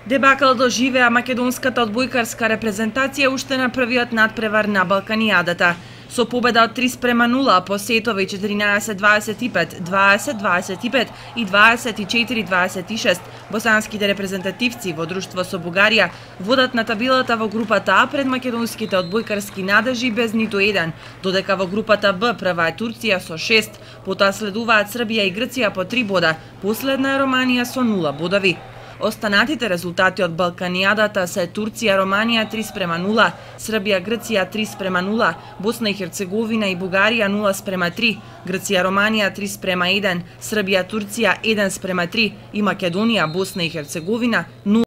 Дебакал доживеа македонската одбојкарска репрезентација уште на првиот надпревар на Балканијадата. Со победа од 3:0 по сетови 14-25, 20-25 и 24-26, босанските репрезентативци во друштво со Бугарија водат на табелата во групата А пред македонските одбојкарски надежи без ниту еден, додека во групата Б прва е Турција со 6, потоа следуваат Србија и Грција по 3 бода, последна е Романија со 0 бодови. Останатите резултати од Балканијадата се Турција, Романија 3:0, Србија, Грција 3:0, Босна и Херцеговина и Бугарија 0:3, Грција, Романија 3:1, Србија, Турција 1:3 и Македонија, Босна и Херцеговина 0:3.